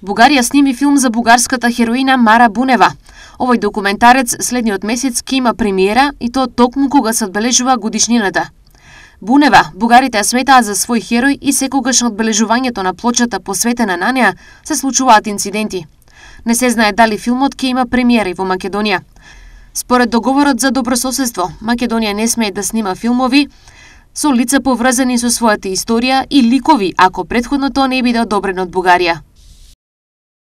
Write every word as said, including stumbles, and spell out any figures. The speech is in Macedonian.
Бугарија сними филм за бугарската хероина Мара Бунева. Овој документарец следниот месец ќе има премиера и тоа токму кога се одбележува годишнината. Бунева, бугарите ја сметаат за свој херој и секогаш на одбележувањето на плочата посветена на неа се случуваат инциденти. Не се знае дали филмот ќе има премиера и во Македонија. Според договорот за добрососедство, Македонија не смее да снима филмови со лица поврзани со својата историја и ликови ако претходно тоа не биде одобрено од Бугарија.